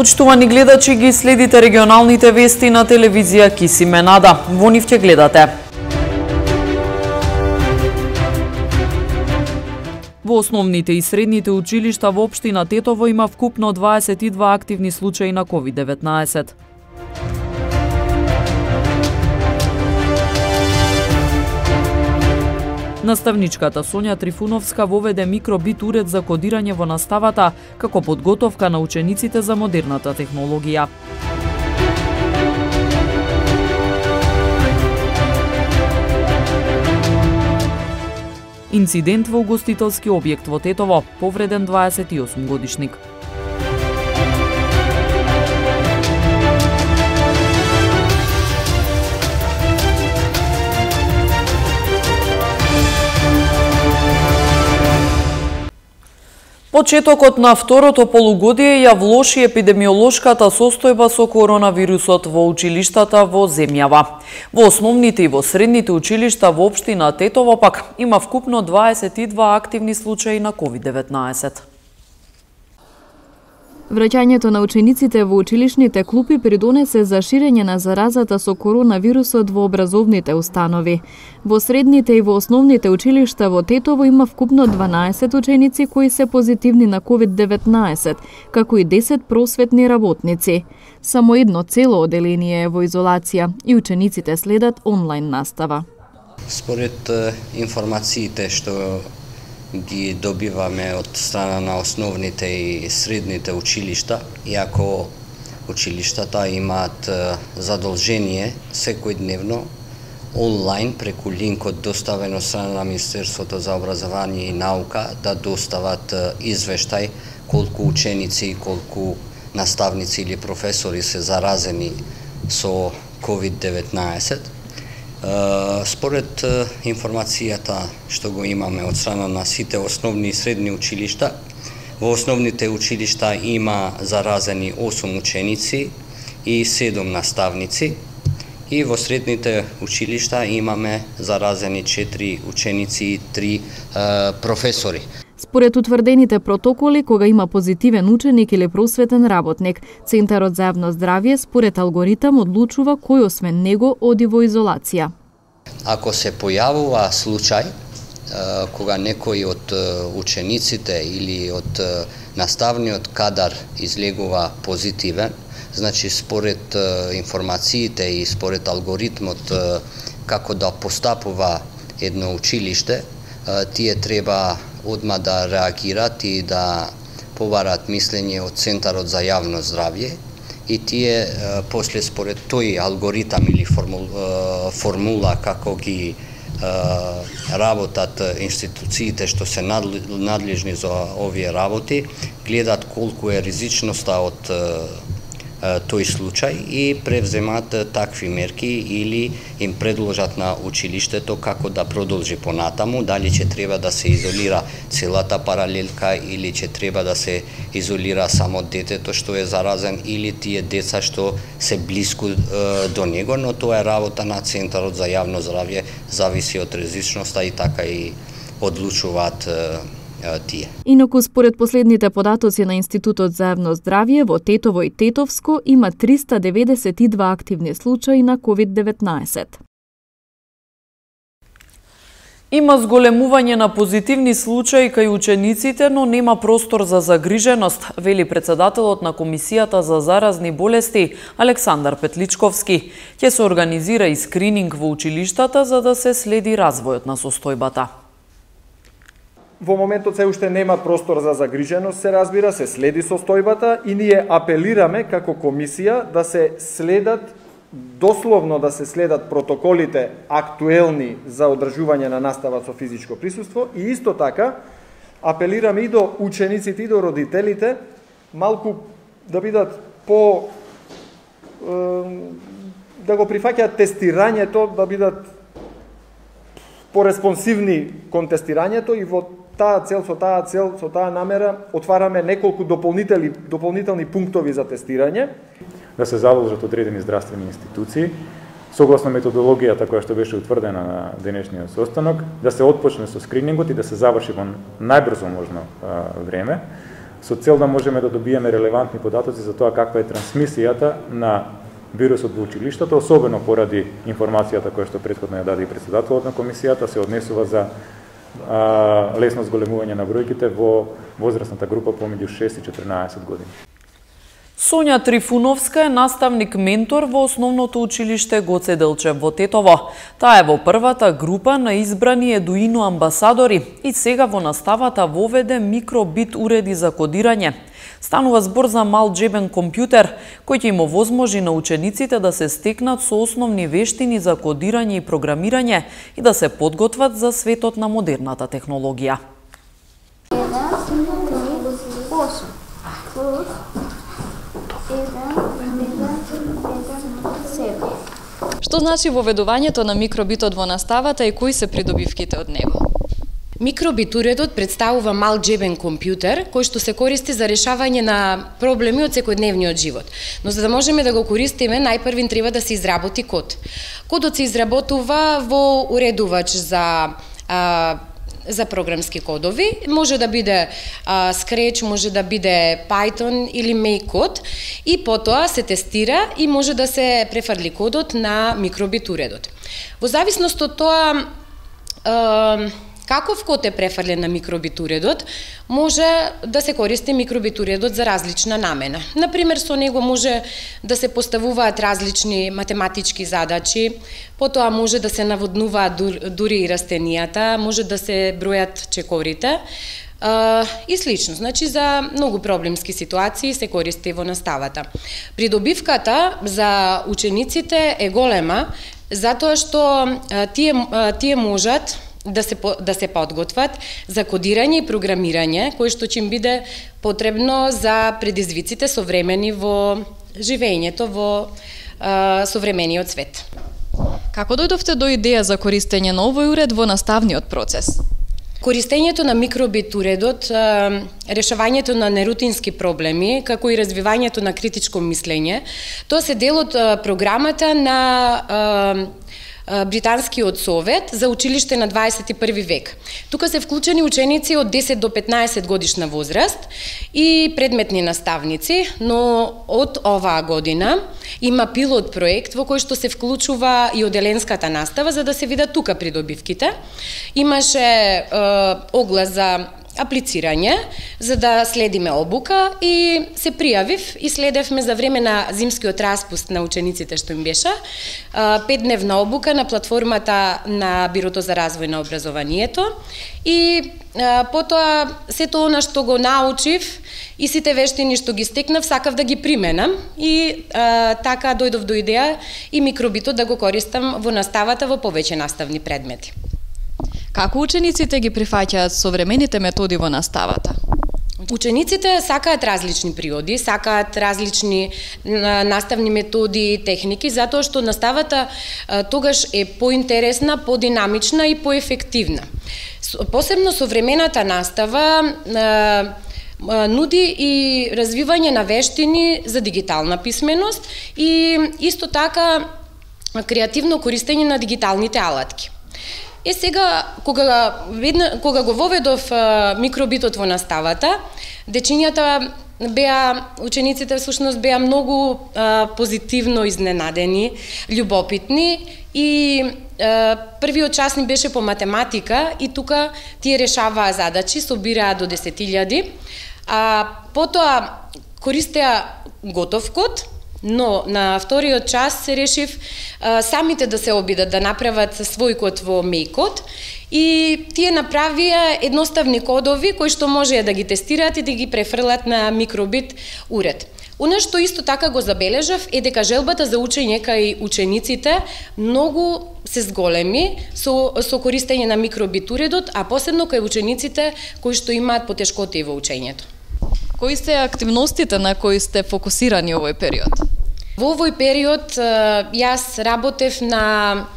Почитувани гледачи, ги следите регионалните вести на телевизија Кисименада. Во нив ќе гледате. Во основните и средните училишта во општина Тетово има вкупно 22 активни случаи на COVID-19. Наставничката Сонја Трифуновска воведе микробит уред за кодирање во наставата како подготовка на учениците за модерната технологија. Инцидент во угостителски објект во Тетово, повреден 28 годишник. Почетокот на второто полугодие ја влоши епидемиолошката состојба со коронавирусот во училиштата во земјава. Во основните и во средните училишта во општина Тетово пак има вкупно 22 активни случаи на COVID-19. Враќањето на учениците во училишните клупи придонесе за ширење на заразата со коронавирусот во образовните установи. Во средните и во основните училишта во Тетово има вкупно 12 ученици кои се позитивни на COVID-19, како и 10 просветни работници. Само едно цело оделение е во изолација и учениците следат онлайн настава. Според информациите што ги добиваме од страна на основните и средните училишта, иако училиштата имаат задолжение секојдневно онлайн преку линкот доставен од страна на Министерството за образование и наука да достават извештај колку ученици и колку наставници или професори се заразени со COVID-19. Според информацијата што го имаме од страна на сите основни и средни училишта, во основните училишта има заразени 8 ученици и 7 наставници, и во средните училишта имаме заразени 4 ученици и 3 професори. Според утврдените протоколи, кога има позитивен ученик или просветен работник, Центарот за јавно здравје според алгоритам одлучува кој освен него оди во изолација. Ако се појавува случај кога некој од учениците или од наставниот кадар излегува позитивен, значи според информациите и според алгоритмот како да постапува едно училиште, тие треба одма да реагират и да побарат мислење од Центарот за јавно здравје, и тие после според тој алгоритам или формула како ги работат институциите што се надлежни за овие работи, гледат колку е ризичноста од тој случај и превземат такви мерки или им предложат на училиштето како да продолжи понатаму, дали ќе треба да се изолира целата паралелка или ќе треба да се изолира само детето што е заразен или тие деца што се блиску до него, но тоа е работа на Центарот за јавно здравје, зависи од ризичноста и така и одлучуваат тие. Инаку според последните податоци на Институтот за јавно здравје во Тетово и Тетовско има 392 активни случаи на COVID-19. Има зголемување на позитивни случаи кај учениците, но нема простор за загриженост, вели председателот на Комисијата за заразни болести Александар Петличковски. Ќе се организира и скрининг во училиштата за да се следи развојот на состојбата. Во моментот се уште нема простор за загриженост, се разбира, се следи состојбата и ние апелираме како комисија да се следат, дословно да се следат протоколите актуелни за одржување на настава со физичко присуство и исто така апелираме и до учениците и до родителите малку да бидат да го прифаќаат тестирањето, да бидат пореспонсивни кон тестирањето и во со таа намера отвараме неколку дополнителни пунктови за тестирање. Да се задолжат одредени здравствени институции, согласно методологијата која што беше утврдена на денешниот состанок, да се отпочне со скринингот и да се заврши во најбрзо можно време. со цел да можеме да добиеме релевантни податоци за тоа каква е трансмисијата на вирусот во училиштата, особено поради информацијата која што претходно ја даде и председателот на комисијата, се однесува за лесно зголемување на бројките во возрастната група помеѓу 6 и 14 години. Сонја Трифуновска е наставник-ментор во основното училиште Гоце Делчев во Тетово. Таа е во првата група на избрани Едуино амбасадори и сега во наставата воведе микробит уреди за кодирање. Станува збор за мал џебен компјутер, кој ќе им овозможи на учениците да се стекнат со основни вештини за кодирање и програмирање и да се подготват за светот на модерната технологија. Што значи воведувањето на микробитот во наставата и кои се придобивките од него? Микробит уредот представува мал џебен компјутер кој што се користи за решавање на проблеми од секојдневниот живот. Но за да можеме да го користиме, најпрвин треба да се изработи код. Кодот се изработува во уредувач за програмски кодови, може да биде Scratch, може да биде Python или Make код и потоа се тестира и може да се префрли кодот на микробит уредот. Во зависност од тоа каков код е префрлен на микробит уредот, може да се користи микробит уредот за различна намена. Например, со него може да се поставуваат различни математички задачи, потоа може да се наводнуваат дури и растенијата, може да се бројат чекорите и слично. Значи, за многу проблемски ситуации се користи во наставата. Придобивката за учениците е голема, затоа што тие можат да се подготват за кодирање и програмирање, кој што ќе им биде потребно за предизвиците современи во живењето во современиот свет. Како дојдовте до идеја за користење на овој уред во наставниот процес? Користењето на микробит уредот, решавањето на нерутински проблеми, како и развивањето на критичко мислење, тоа се дел од програмата на Британскиот совет за училиште на 21 век. Тука се вклучени ученици од 10 до 15 годишна возраст и предметни наставници, но од оваа година има пилот проект во кој што се вклучува и оделенската настава за да се видат тука придобивките. Имаше оглас за аплицирање за да следиме обука и се пријавив и следевме за време на зимскиот распуст на учениците што им беше 5-дневна обука на платформата на Бирото за развој на образованието и потоа сето она што го научив и сите вештини што ги стекнав сакав да ги применам и така дојдов до идеја и микробитот да го користам во наставата во повеќе наставни предмети. Како учениците ги прифаќаат современите методи во наставата? Учениците сакаат различни природи, сакаат различни наставни методи и техники, затоа што наставата тогаш е поинтересна, подинамична и поефективна. Посебно современата настава нуди и развивање на вештини за дигитална писменост и исто така креативно користење на дигиталните алатки. Сега, кога го воведов микробитот во наставата, учениците всушност беа многу позитивно изненадени, љубопитни и првиот час ни беше по математика и тука тие решаваа задачи, собираа до 10.000, потоа користеа готов код, но на вториот час се решив самите да се обидат да направат свој код во Make и тие направија едноставни кодови кои што можеа да ги тестираат и да ги префрлат на микробит уред. Она што исто така го забележав е дека желбата за учење кај учениците многу се зголеми со користење на микробит уредот, а посебно кај учениците кои што имаат потешкоти во учењето. Кои се активностите на кои сте фокусирани овој период? Во овој период јас работев на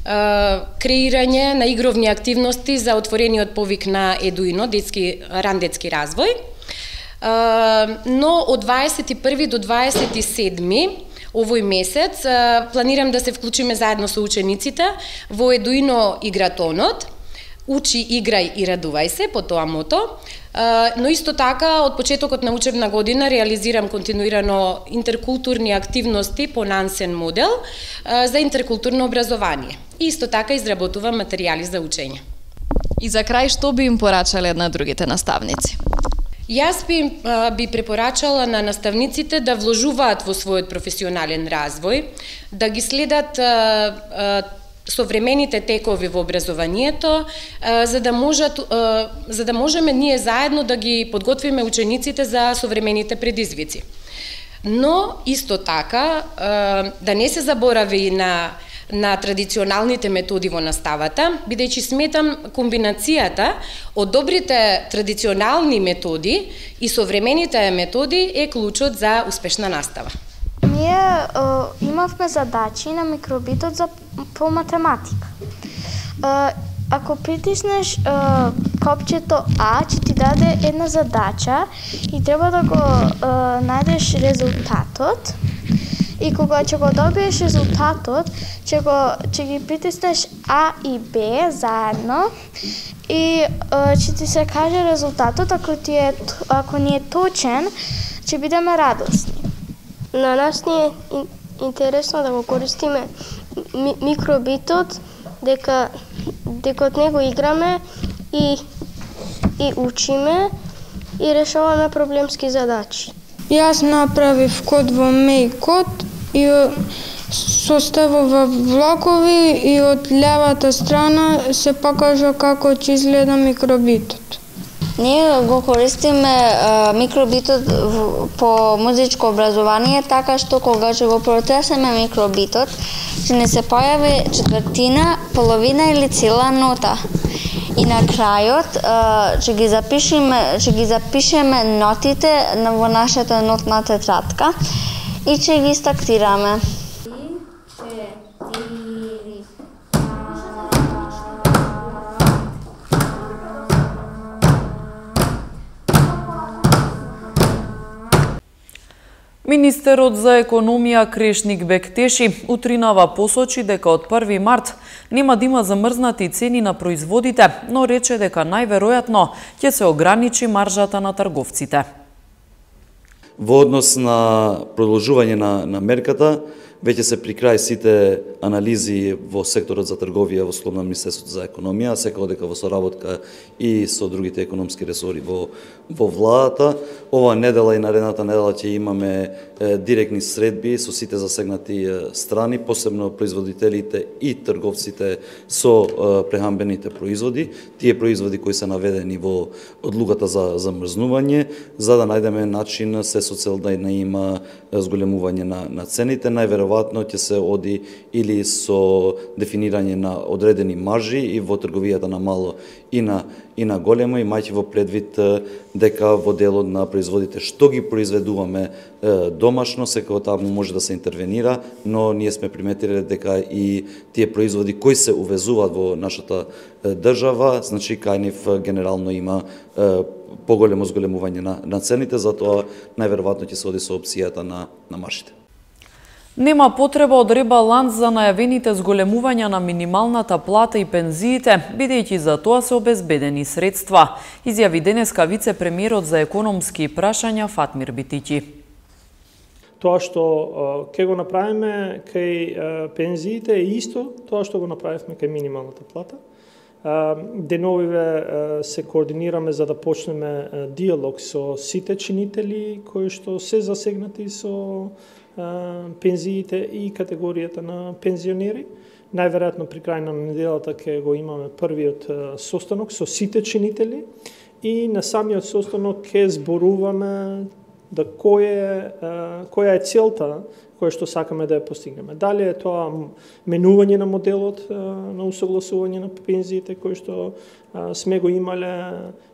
креирање на игровни активности за отворениот повик на Едуино, ран детски развој. Но од 21 до 27 овој месец планирам да се вклучиме заедно со учениците во Едуино игратонот. учи, играј и радувај се, по тоа мото. Но исто така, од почетокот на учебна година реализирам континуирано интеркултурни активности по Нансен модел за интеркултурно образование. И исто така изработувам материјали за учење. И за крај, што би им порачале на другите наставници? Јас би препорачала на наставниците да вложуваат во својот професионален развој, да ги следат современите текови во образованието, за да можеме ние заедно да ги подготвиме учениците за современите предизвици. Но исто така да не се заборави на традиционалните методи во наставата, бидејќи сметам комбинацијата од добрите традиционални методи и современите методи е клучот за успешна настава. Ние имавме задачи на микробитот по математика. Ако притиснеш копчето А, ќе ти даде една задача и треба да го најдеш резултатот. И кога ќе го добиеш резултатот, ќе ги притиснеш А и Б заедно и ќе ти се каже резултатот. Ако ни е точен, ќе бидеме радосни. На нас ни е интересно да го користиме микробитот, дека од него играме и учиме и решаваме проблемски задачи. Јас направив код во Мејкод и составува влакови и од левата страна се покажа како ќе изгледа микробитот. Ние го користиме микробитот по музичко образование, така што кога ќе го протресеме микробитот, ќе не се појави четвртина, половина или цела нота. И на крајот ќе ги запишеме нотите во нашата нотна тетрадка и ќе ги стактираме. Министерот за економија Крешник Бектеши утринава посочи дека од 1 март нема да има замрзнати цени на производите, но рече дека најверојатно ќе се ограничи маржата на трговците. Во однос на продолжување на мерката, веќе се при крај сите анализи во секторот за трговија во скоп на Министерството за економија, секако дека во соработка и со другите економски ресори во владата. Ова недела и наредната недела ќе имаме директни средби со сите засегнати страни, посебно производителите и трговците со прехранбените производи, тие производи кои се наведени во одлуката за замрзнување, за да најдеме начин се со цел да не има зголемување на цените. Најверојатно ќе се оди или со дефинирање на одредени маржи и во трговијата на мало и на големо, имајќи во предвид дека во делот на производите што ги произведуваме домашно, секако таму може да се интервенира, но ние сме приметиле дека и тие производи кои се увезуваат во нашата држава, значи кај нив генерално има поголемо зголемување на цените, затоа најверојатно ќе се оди со опцијата на маржите. Нема потреба од ребаланс за најавените зголемувања на минималната плата и пензиите, бидејќи за тоа се обезбедени средства, изјави денеска вице-премиерот за економски прашања Фатмир Битиќи. Тоа што ќе го направиме кај пензиите е исто тоа што го направивме кај минималната плата. Деновиве се координираме за да почнеме диалог со сите чинители кои што се засегнати со пензиите и категоријата на пензионери. Најверојатно при крај на неделата ќе го имаме првиот состанок со сите чинители и на самиот состанок ќе зборуваме да која е целта која што сакаме да ја постигнеме. Дали е тоа менување на моделот на усогласување на пензиите кој што сме го имале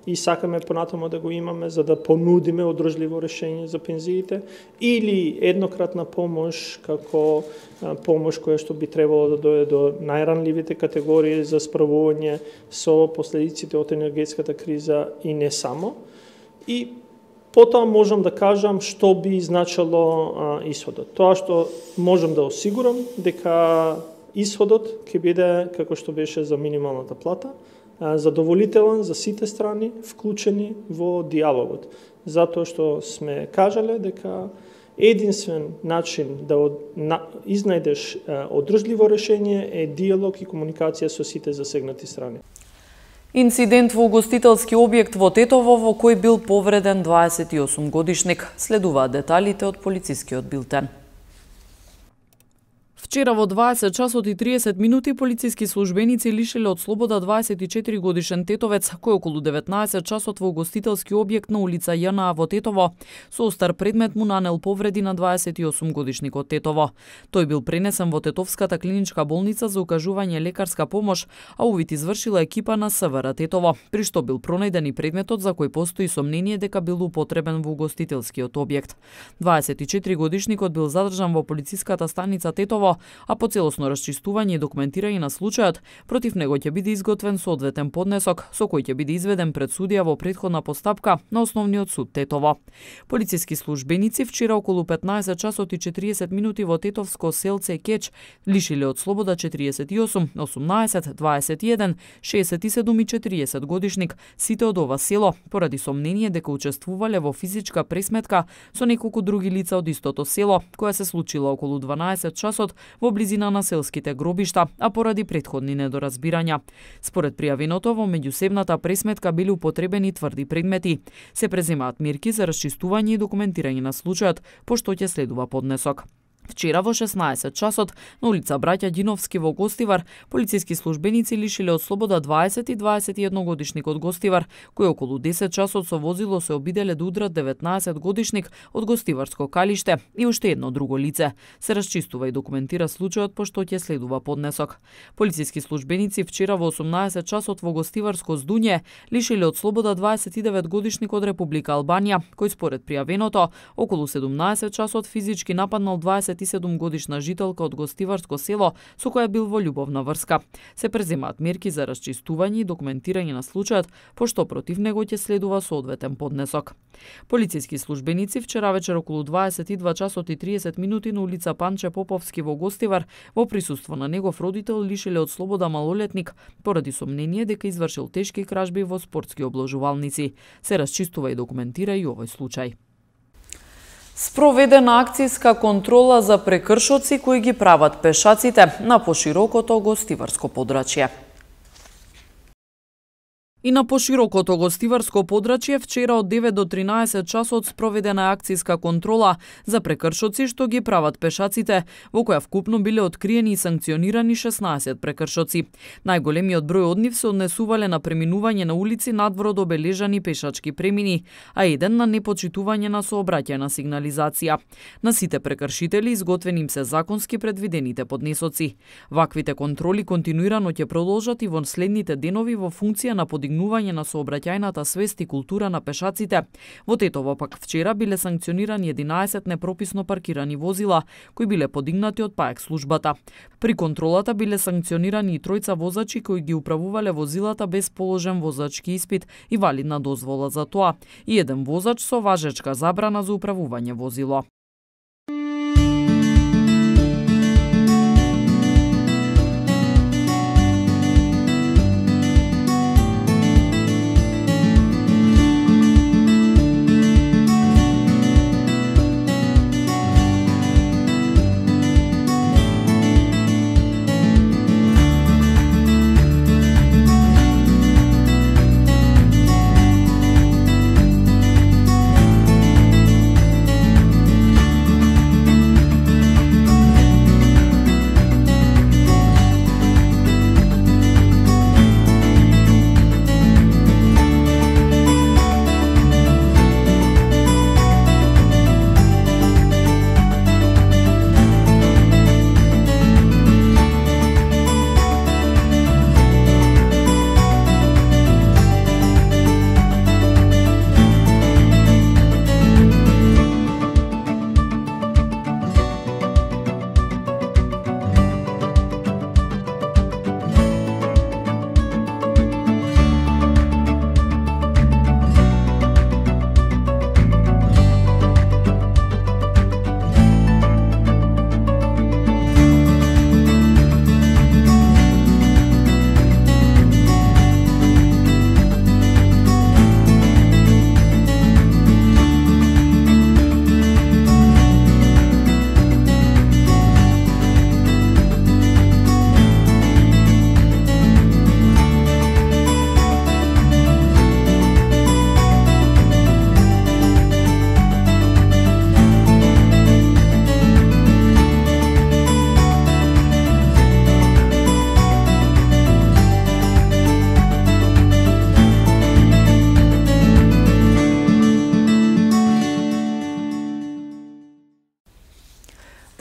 и сакаме понатаму да го имаме за да понудиме одржливо решење за пензиите, или еднократна помош како помош која што би требало да дојде до најранливите категории за справување со последиците од енергетската криза и не само. И потоа можам да кажам што би значило исходот. Тоа што можам да осигурам дека исходот ќе биде како што беше за минималната плата, задоволителен за сите страни вклучени во диалогот. Затоа што сме кажале дека единствен начин да изнајдеш одржливо решение е диалог и комуникација со сите засегнати страни. Инцидент во угостителски објект во Тетово во кој бил повреден 28 годишник. Следуваат деталите од полицискиот билтен. Вчера во 20 часот и 30 минути полициски службеници лишиле од слобода 24 годишен тетовец кој околу 19 часот во угостителски објект на улица ЈНА во Тетово со остар предмет му нанел повреди на 28 годишникот Тетово. Тој бил пренесен во Тетовската клиничка болница за укажување лекарска помош, а увид извршила екипа на СВР Тетово, при што бил пронајден и предметот за кој постои сомнение дека бил употребен во угостителскиот објект. 24 годишникот бил задржан во полициската станица Тетово, а по целосно расчистување и документирање на случајот, против него ќе биде изготвен соодветен поднесок со кој ќе биде изведен пред судија во претходна постапка на Основниот суд Тетово. Полициски службеници вчера околу 15 часот и 40 минути во тетовско селце Кеч лишиле од слобода 48, 18, 21, 67 и 40 годишник сите од ова село поради сомнение дека учествувале во физичка пресметка со неколку други лица од истото село, која се случила околу 12 часот во близина на селските гробишта, а поради претходни недоразбирања. Според пријавеното, во меѓусебната пресметка били употребени тврди предмети. Се преземаат мерки за расчистување и документирање на случајот, пошто ќе следува поднесок. Вчера во 16 часот на улица Браќа Ѓиновски во Гостивар, полициски службеници лишиле од слобода 20 и 21 годишник од Гостивар, кој околу 10 часот со возило се обиделе да удрат 19 годишник од Гостиварско калиште и уште едно друго лице. Се расчистува и документира случајот, пошто ќе следува поднесок. Полициски службеници вчера во 18 часот во Гостиварско Здуње лишиле од слобода 29 годишник од Република Албанија, кој според пријавеното околу 17 часот физички нападнал 27 годишна жителка од Гостиварско село со која бил во љубовна врска. Се преземаат мерки за расчистување и документирање на случајот, пошто против него ќе следува соодветен поднесок. Полициски службеници вчера вечер околу 22 часот и 30 минути на улица Панче Поповски во Гостивар во присуство на негов родител лишиле од слобода малолетник поради сомнение дека извршил тешки кражби во спортски обложувалници. Се расчистува и документира и овој случај. Спроведена акцијска контрола за прекршоци кои ги прават пешаците на поширокото гостиварско подрачје. И на поширокото гостиварско подрачје вчера од 9 до 13 часот спроведена акцијска контрола за прекршоци што ги прават пешаците, во која вкупно биле откриени и санкционирани 16 прекршоци. Најголемиот број од нив се однесувале на преминување на улици надвор од обележани пешачки премини, а еден на непочитување на сообраќајна сигнализација. На сите прекршители изготвени им се законски предвидените поднесоци. Ваквите контроли континуирано ќе продолжат и во следните денови во функција на подигнување на сообраќајната свест и култура на пешаците. Во Тетово пак вчера биле санкционирани 11 непрописно паркирани возила кои биле подигнати од ПАЕК службата. При контролата биле санкционирани и тројца возачи кои ги управувале возилата без положен возачки испит и валидна дозвола за тоа, и еден возач со важечка забрана за управување возило.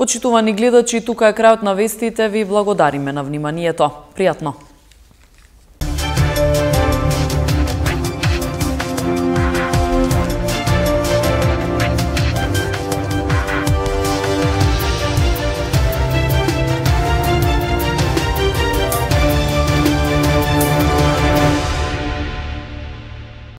Почитувани гледачи, тука е крајот на вестите, ви благодариме на вниманието. Пријатно!